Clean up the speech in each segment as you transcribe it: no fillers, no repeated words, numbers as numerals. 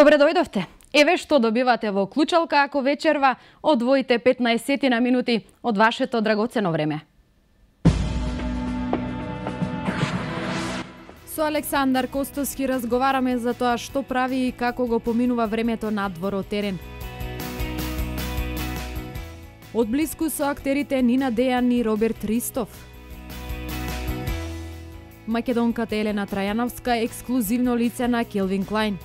Добре дојдовте. Еве што добивате во клучалка ако вечерва одвоите 15 на минути од вашето драгоцено време. Со Александар Костовски разговараме за тоа што прави и како го поминува времето надвор од терен. Одблиску со актерите Нина Дејан и Роберт Ристов. Македонката Елена Трајановска ексклузивно лице на Келвин Клайн.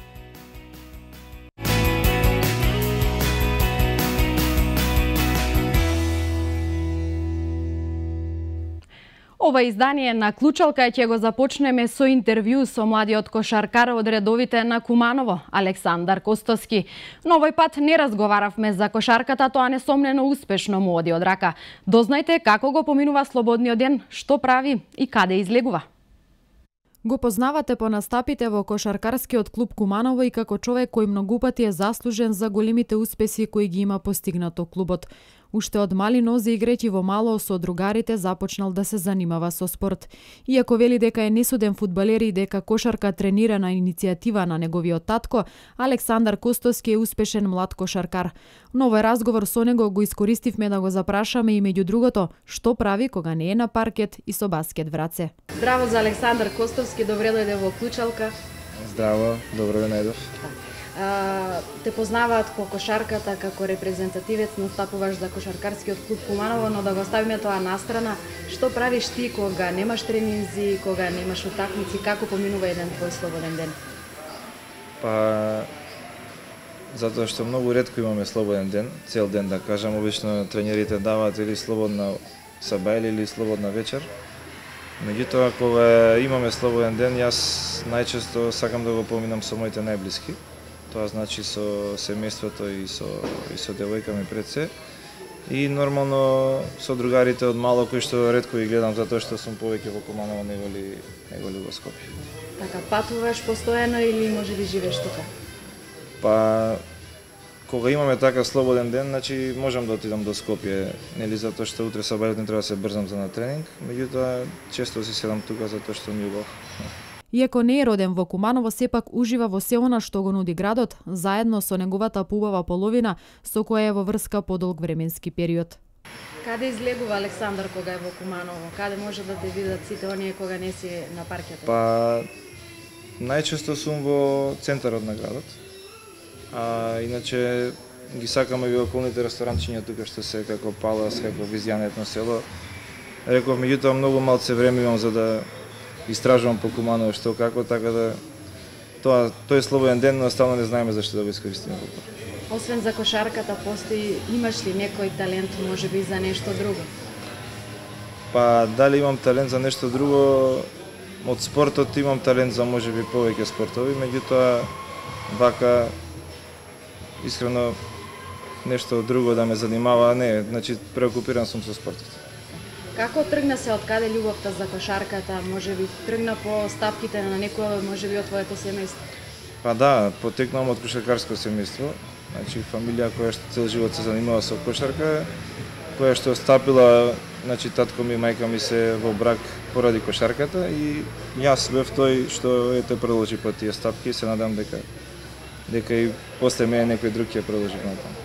Ова издание на Клучалка ќе го започнеме со интервју со младиот кошаркар од редовите на Куманово, Александар Костовски. Но овој пат не разговаравме за кошарката, тоа несомнено успешно му оди од рака. Дознајте како го поминува слободниот ден, што прави и каде излегува. Го познавате по настапите во кошаркарскиот клуб Куманово и како човек кој многу пати е заслужен за големите успеси кои ги има постигнато клубот. Уште од мали нозе играјќи во мало со другарите започнал да се занимава со спорт. Иако вели дека е несуден фудбалер и дека кошарка тренира на иницијатива на неговиот татко, Александар Костовски е успешен млад кошаркар. Но овој разговор со него го искористивме да го запрашаме и меѓу другото што прави кога не е на паркет и со баскет в раце. Здраво за Александар Костовски, добре дојде во Клучалка. Здраво, добро ве најдов. Те познаваат по кошарката како репрезентативец, настапуваш за кошаркарскиот клуб Куманово, но да го ставиме тоа настрана, што правиш ти кога немаш тренинзи, кога немаш утакмици, како поминува еден твој слободен ден? Па затоа што многу ретко имаме слободен ден, цел ден да кажам, обично тренерите даваат или слободна саба или слободна вечер. Меѓутоа кога имаме слободен ден, јас најчесто сакам да го поминам со моите најблиски. Тоа значи со семејството и со девојка ми пред се. И нормално со другарите од мало кои што ретко ги гледам затоа што сум повеќе во Куманово неголи во Скопје. Така патуваш постојано или можеби живееш тука? Па кога имаме така слободен ден, значи можам да отидам до Скопје, нели затоа што утре сабајот не треба да се брзам за на тренинг, меѓутоа често си седам тука затоа што ми убаво. Иако не е роден во Куманово, сепак ужива во се она што го нуди градот, заедно со неговата пубава половина, со која е во врска подолг временски период. Каде излегува Александар кога е во Куманово? Каде може да те видат сите оние кога не си на паркето? Па најчесто сум во центарот на градот. Иначе ги сакаме и околните ресторанчиња тука што се како Палас, како Визијан етно село. Реков, меѓутоа многу малце време имам за да истражувам по Куманово што како, така да тој слободен ден наставно не знаеме зашто да го искористиме. Освен за кошарката, постои, имаш ли некој талент можеби за нешто друго? Па дали имам талент за нешто друго? Од спортот имам талент за можеби повеќе спортови, меѓутоа вака искрено нешто друго да ме занимава, не, значи преокупиран сум со спортот. Како тргна се од каде љубовта за кошарката? Можеби тргна по стапките на некој, можеби од твоето семејство? Па да, потекнувам од кошаркарско семејство. Значи фамилија која што цел живот се занимава со кошарка, која што стапила, значи татко ми и мајка ми се во брак поради кошарката и јас бев тој што ете продолжи по тие стапки и се надам дека и после мене некој друг ќе продолжи натаму.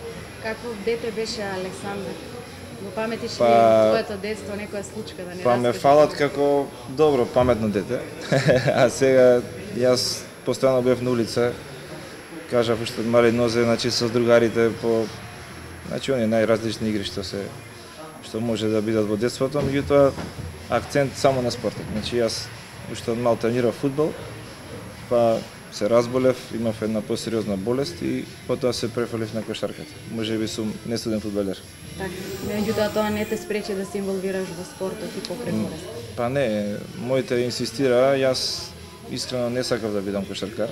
Какво дете беше Александар? Во паметиш ли твоето детство некоја случка да не Па ме фалат како добро, паметно дете. А сега јас постојано бев на улица, кажав уште од мали нозе, значи со другарите по оние најразлични игри што може да бидат во детството, меѓутоа акцент само на спортот. Значи јас уште од мал тренирав фудбал, па се разболев, имав една посериозна болест и потоа се префалив на кошарката. Можеби сум несуден фудбалер. Така, меѓутоа тоа не те спречи да се инволвираш во спортот и покрај болест? Па не, моите инсистира, јас искрено не сакав да бидам кошаркар.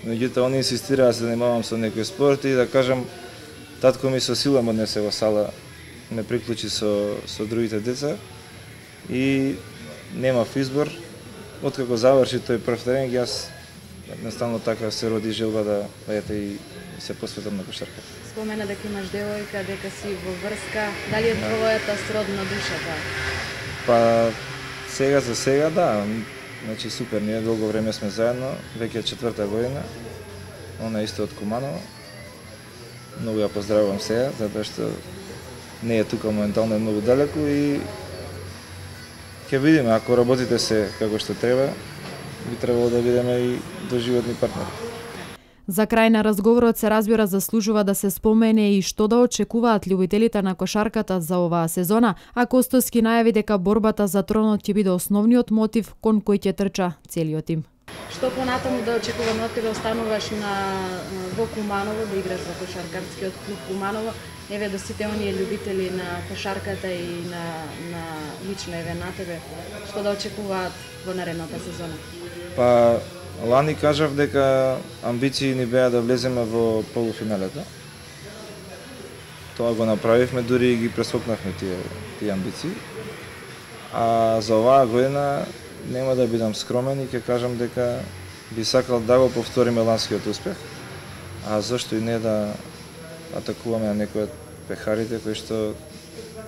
Меѓутоа они инсистира да се занимавам со некој спорт и да кажам татко ми со сила ме однесе во сала, ме приклучи со другите деца и немав избор. Откако заврши тој прв тренинг, јас едноставно така се роди желба да и се посветам на кошарката. Спомена дека имаш девојка, дека си во врска, дали е твојата сродна душа таа? Па сега за сега да, значи супер, ние долго време сме заедно, веќе 4-та година она исто од Куманово. Многу ја поздравувам сега, затоа што не е тука моментално, е многу далеку и ќе видиме, ако работите се како што треба, би требало да бидеме и доживотни партнери. За крај на разговорот се разбира заслужува да се спомене и што да очекуваат љубителите на кошарката за оваа сезона, а Костоски најави дека борбата за тронот ќе биде основниот мотив кон кој ќе трча целиот тим. Што понатаму да очекуваме откаде остануваш во Куманово да играш за кошаркарскиот клуб Куманово? Еве до сите оние љубители на кошарката и на лично еве на тебе, што да очекуваат во наредната сезона? Па лани кажав дека амбиции ни беа да влеземе во полуфиналето. Тоа го направивме, дури и ги прескокнавме тие амбиции. А за оваа година нема да бидам скромен и ќе кажам дека би сакал да го повториме ланскиот успех. А зашто и не да атакуваме на некој од пехарите кои што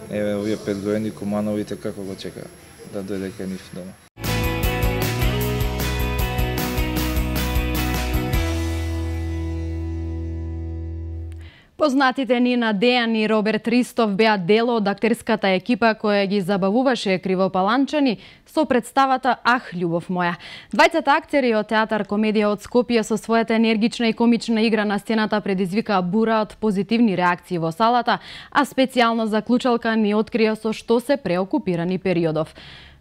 еве овие 5 години Кумановите како го чека да дојде кај нив дома. Познатите Нина Дејан и Роберт Ристов беа дел од актерската екипа која ги забавуваше кривопаланчани со представата Ах, љубов моја. Двајцата актери од театар комедија од Скопје со својата енергична и комична игра на сцената предизвика бура од позитивни реакции во салата, а специјално заклучалка ни открија со што се преокупирани периодов.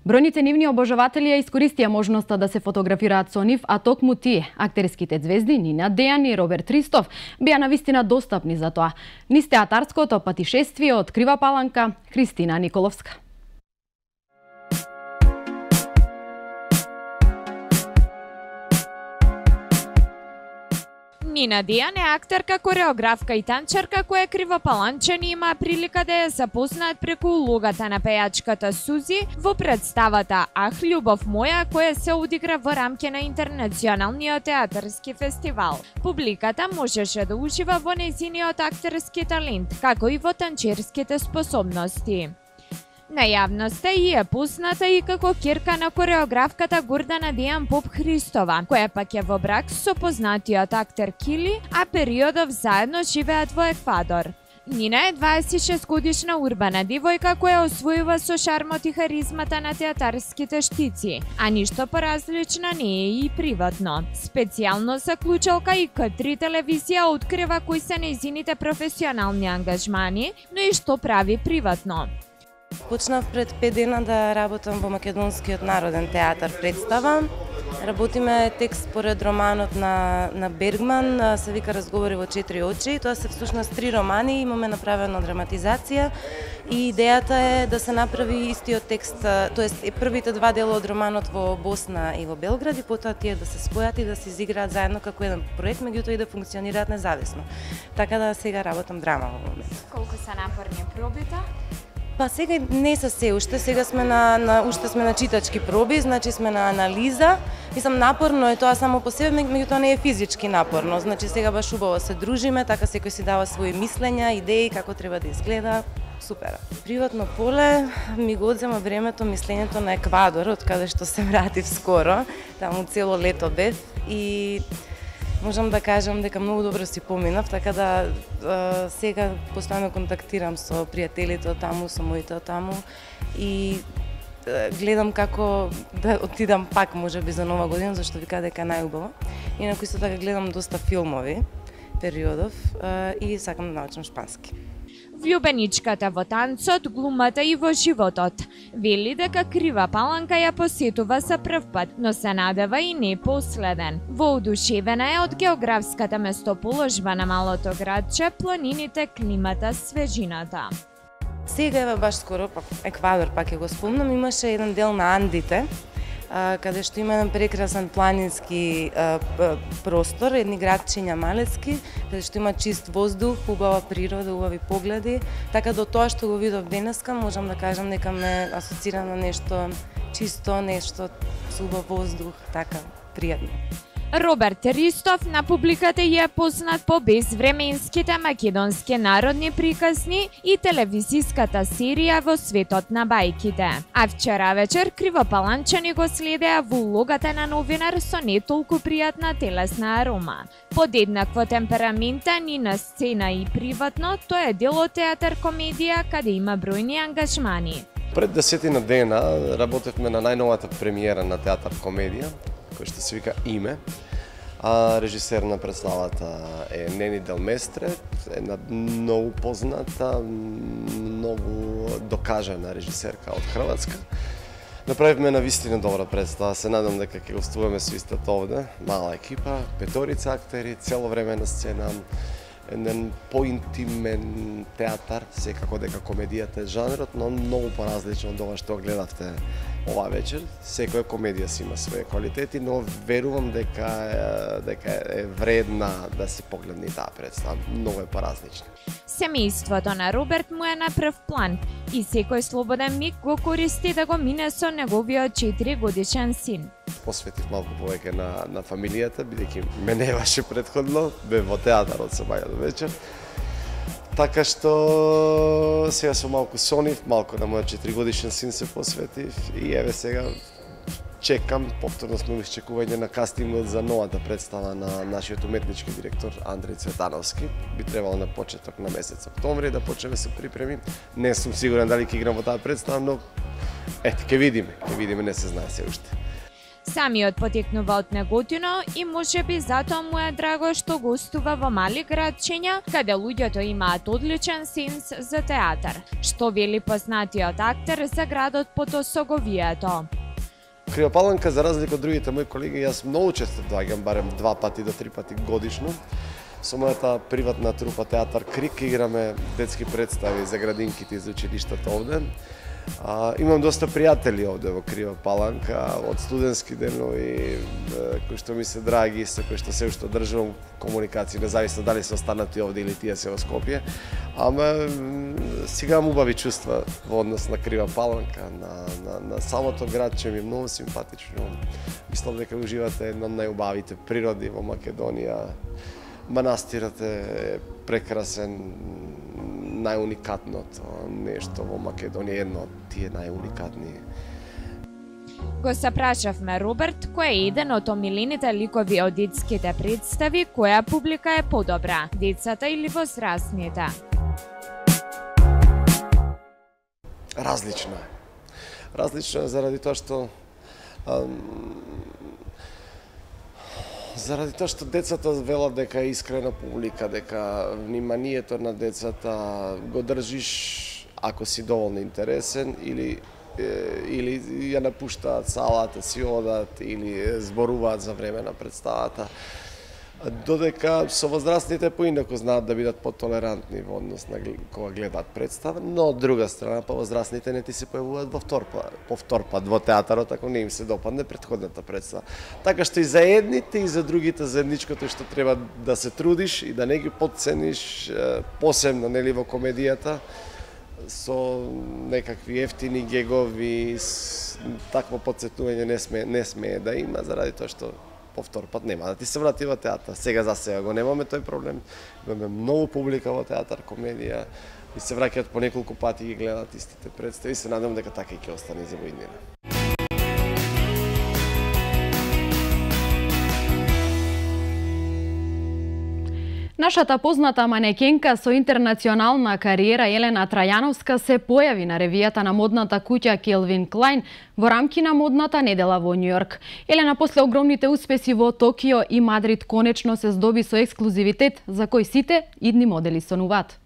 Бројните нивни обожаватели ја искористија можноста да се фотографираат со нив, а токму тие, актерските звезди Нина Дејан и Роберт Ристов, беа навистина достапни за тоа. Низ театарското патишествие од Крива Паланка, Христина Николовска. Нина Дејан е актерка, кореографка и танчарка која кривопаланчани има прилика да ја запознаат преку улогата на пејачката Сузи во представата Ах, љубов моја, која се одигра во рамки на Интернационалниот театарски фестивал. Публиката можеше да ужива во нејзиниот актерски талент, како и во танчерските способности. На јавноста и е позната и како ќерка на кореографката Гордана Дејан Поп Христова, која пак е во брак со познатиот актер Кили, а периодов заедно живеат во Еквадор. Нина е 26-годишна урбана девојка која освојува со шармот и харизмата на театарските штици, а ништо поразлична не е и приватно. Специјално за клучалка и К3 телевизија открива кои се нејзините професионални ангажмани, но и што прави приватно. Почнав пред 5 дена да работам во Македонскиот народен театар представа. Работиме текст според романот на Бергман, се вика Разговори во 4 очи. Тоа се всушност 3 романи, имаме направена драматизација и идејата е да се направи истиот текст, тоест првите 2 дела од романот во Босна и во Белград и потоа тие да се спојат и да се изиграат заедно како еден проект, меѓутоа и да функционираат независно. Така да сега работам драма во моментот. Колку се напорни пробите? Па сега не се уште, сега сме уште сме на читачки проби, значи сме на анализа. Мислам, напорно е тоа само по себе, меѓутоа не е физички напорно. Значи сега баш убаво се дружиме, така секој си дава своји мислења, идеи како треба да изгледа. Супер. Приватно поле ми го одзема времето, мислењето на Еквадор, од каде што се вратив скоро. Таму цело лето бев и можам да кажам дека многу добро си поминав, така да сега постојано контактирам со пријателите од таму, со моите од таму и гледам како да отидам пак можеби за Нова година, зашто вика дека е најубаво. Инаку исто така гледам доста филмови периодов и сакам да научам шпански. Влюбеничката во танцот, глумата и во животот. Вели дека Крива Паланка ја посетува за прв пат, но се надева и не последен. Воодушевена е од географската местоположба на малото градче, планините, климата, свежината. Сега еве баш скоро, Еквадор пак ја го спомнам, имаше еден дел на Андите, каде што има еден прекрасен планински простор, едни градчиња малецки, каде што има чист воздух, убава природа, убави погледи, така до тоа што го видов денеска, можам да кажам дека ме асоцира на нешто чисто, нешто со убав воздух, така пријатно. Роберт Ристов на публиката ја е познат по безвременските македонски народни приказни и телевизиската серија Во светот на бајките. А вчера вечер Кривопаланчани го следеа во улогата на новинар со не толку пријатна телесна арома. Под еднакво темперамента ни на сцена и приватно, тој е дел од театар комедија каде има бројни ангажмани. Пред 10 дена работевме на најновата премиера на театар комедија, кој што се вика Име. Режисер на представата е Нени Делместре, една многу позната, многу докажана режисерка од Хрватска. Направивме на вистина добра представа, се надам дека ќе гостуваме со истата овде, мала екипа, 5 актери, цело време на сцена, еден поинтимен театар, секако дека комедијата е жанрот, но многу поразлично од ова што гледавте ова вечер. Секоја комедија си има своје квалитети, но верувам дека е вредна да се погледне таа представа. Многу е поразлична. Семејството на Роберт му е на прв план и секој слободен миг го користи да го мине со неговиот 4-годишен син. Посветив малку повеќе на фамилијата, бидејќи ме немаше претходно, бев во театарот со баја до вечер. Така што сега сум малку сонив, малку на мојот 4-годишен син се посветив и еве сега чекам, повторно сме изчекување на кастингот за новата представа на нашиот уметнички директор Андреј Цветановски. Би требало на почеток на месец октомври да почнеме се припреми. Не сум сигурен дали ќе играм во таа представа, но ете, ќе видиме, не се знае се уште. Самиот потекнува од Неготино и можеби затоа му е драго што гостува во мали градчиња, каде луѓето имаат одличен сенс за театар, што вели познатиот актер за градот Потосоговието. Кривопаланка, за разлика од другите мои колеги, јас многу често доаѓам, барем 2 пати до 3 пати годишно. Со мојата приватна трупа Театар Крик играме детски представи за градинките и за училиштата овде. Имам доста пријатели овде во Кривопаланка, од студентски денови, кои што ми се драги, со кои што се уште одржувам комуникација, независно дали се останати овде или тие се во Скопје. Ама сега имам убави чувства во однос на Кривопаланка, на самото градче ми е многу симпатично. Мислам дека уживате една од најубавите природи во Македонија. Манастирот е прекрасен, најуникатното нешто во Македонија, едно од тие најуникатни. Го сапрашавме Роберт, кој е еден од омилените ликови од детските представи, која публика е подобра, децата или возрастните? Различно е. Различно е заради тоа што децата велат дека е искрена публика, дека вниманието на децата го држиш ако си доволно интересен или ја напуштаат салата, си одат или зборуваат за време на представата. Додека со возрастните поинаку знаат да бидат потолерантни во однос на кога гледаат представа, но од друга страна па возрастните не ти се појавуваат по втор пат во театарот ако не им се допадне претходната представа. Така што и за едните и за другите заедничкото што треба да се трудиш и да не ги потцениш, посебно нели во комедијата, со некакви ефтини гегови, такво потсетување не смее да има, заради тоа што повтор пат нема да ти се врати во театар. Сега за сега го немаме тој проблем. Имаме многу публика во театар комедија и се враќаат по неколку пати и ги гледаат истите представи и се надам дека така и ќе остане за воиднина. Нашата позната манекенка со интернационална кариера Елена Трајановска се појави на ревијата на модната куќа Calvin Klein во рамки на модната недела во Њујорк. Елена после огромните успеси во Токио и Мадрид конечно се здоби со ексклузивитет за кој сите идни модели сонуваат.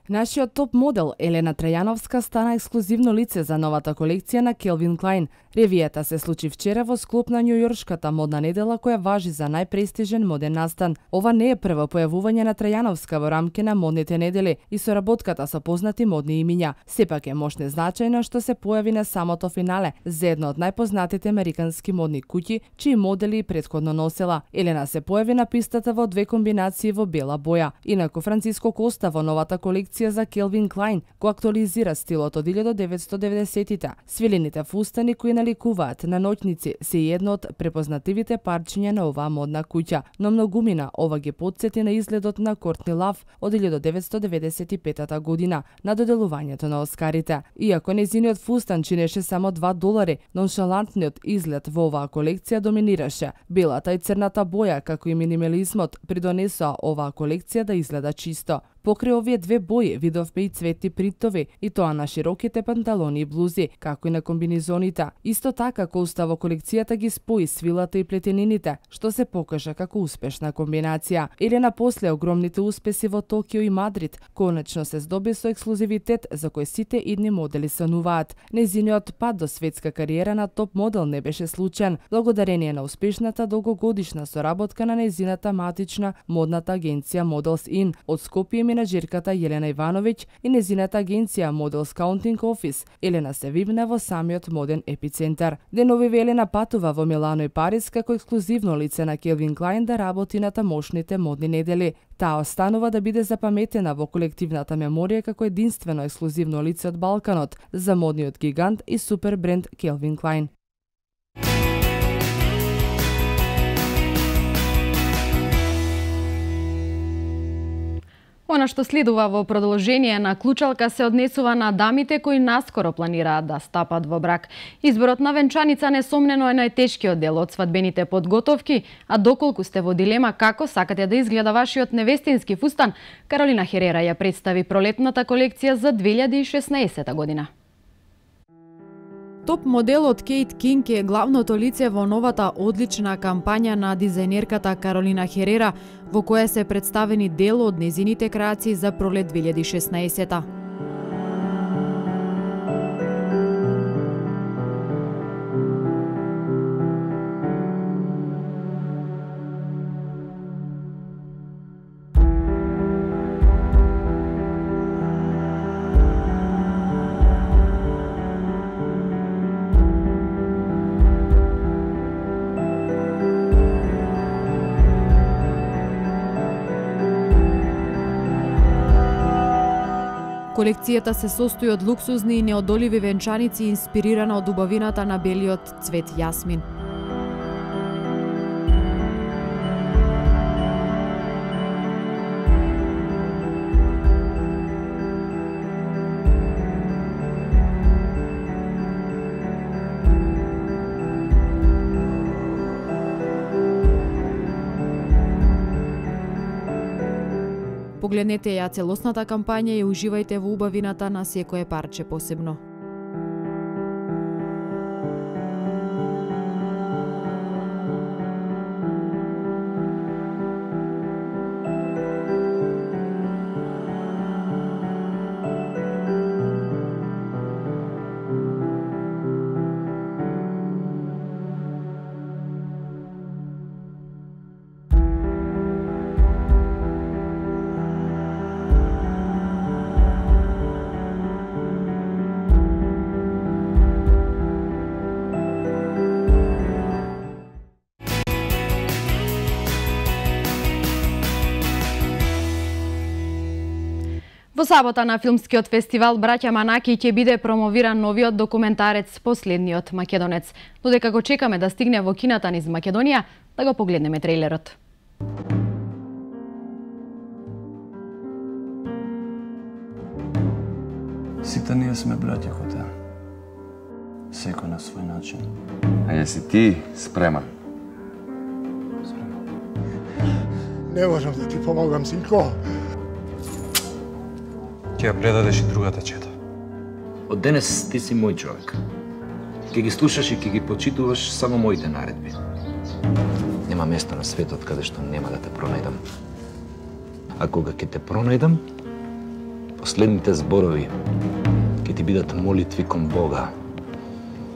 Нашиот топ модел Елена Трајановска стана ексклузивно лице за новата колекција на Calvin Klein. Ревијата се случи вчера во склоп на Њујоршката модна недела која важи за најпрестижен моден настан. Ова не е прво појавување на Трајановска во рамки на модните недели и соработката со познати модни имиња. Сепак е мощне значајно што се појави на самото финале за една од најпознатите американски модни куќи, чии модели претходно носела. Елена се појави на пистата во 2 комбинации во бела боја. Инаку Франциско Коста во новата колекција колекција за Calvin Klein, која актуализира стилот од 1990-тите. Свилените фустани кои наликуваат на ноќници се едно од препознативите парчиња на оваа модна куќа, но многумина ова ги потсети на изгледот на Кортни Лав од 1995 година на доделувањето на Оскарите. Иако нејзиниот фустан чинеше само $2, ноншалантниот изглед во оваа колекција доминираше. Белата и црната боја, како и минимализмот, придонесоа оваа колекција да изгледа чисто. Покрај овие две бои видовме и цветни принтови, и тоа на широките панталони и блузи, како и на комбинизоните. Исто така, Коста во колекцијата ги спои свилата и плетенините, што се покажа како успешна комбинација. Или напосле огромните успеси во Токио и Мадрид, конечно се здоби со ексклузивитет за кој сите идни модели сануваат. Нејзиниот пат до светска кариера на топ модел не беше случаен, благодарение на успешната долгогодишна соработка на нејзината матична модната агенција Models In од Скопје, менаџерката Јелена Ивановиќ и нејзината агенција Models Counting Office. Елена се вивна во самиот моден епицентар. Деновиве Елена патува во Милано и Париз како ексклузивно лице на Calvin Klein да работи на тамошните модни недели. Таа останува да биде запаметена во колективната меморија како единствено ексклузивно лице од Балканот за модниот гигант и супер бренд Calvin Klein. Она што следува во продолжение на клучалка се однесува на дамите кои наскоро планираат да стапат во брак. Изборот на венчаница несомнено е најтешкиот дел од свадбените подготовки, а доколку сте во дилема како сакате да изгледа вашиот невестински фустан, Каролина Херера ја представи пролетната колекција за 2016 година. Топ моделот Кейт Кинг е главното лице во новата одлична кампања на дизајнерката Каролина Херера, во која се представени дел од нејзините креации за пролет 2016. Колекцијата се состои од луксузни и неодоливи венчаници инспирирана од убавината на белиот цвет јасмин. Погледнете ја целосната кампања и уживајте во убавината на секое парче посебно. Во сабота на филмскиот фестивал Браќа Манаки ќе биде промовиран новиот документарец Последниот македонец. Додека го чекаме да стигне во кината низ Македонија, да го погледнеме трейлерот. Сите ние сме браќа коте. Секој на свој начин. А јеси ти спреман? Не можам да ти помогам, синко. Ќе ја предадеш и другата чета. Од денес ти си мој човек. Ќе ги слушаш и ќе ги почитуваш само моите наредби. Нема место на светот каде што нема да те пронајдам. А кога ќе те пронајдам, последните зборови ќе ти бидат молитви кон Бога,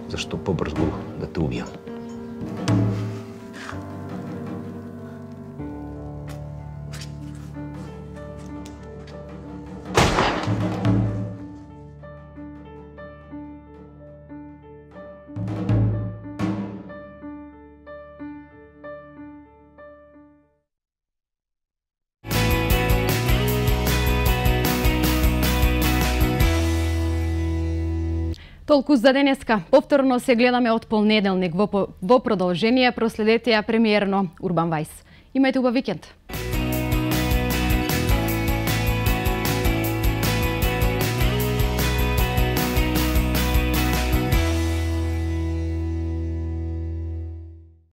зашто побрзо да те убијам. Толку за денеска. Повторно се гледаме од понеделник. Во продолжение проследете ја премиерно Урбан Вајс. Имајте убав викенд.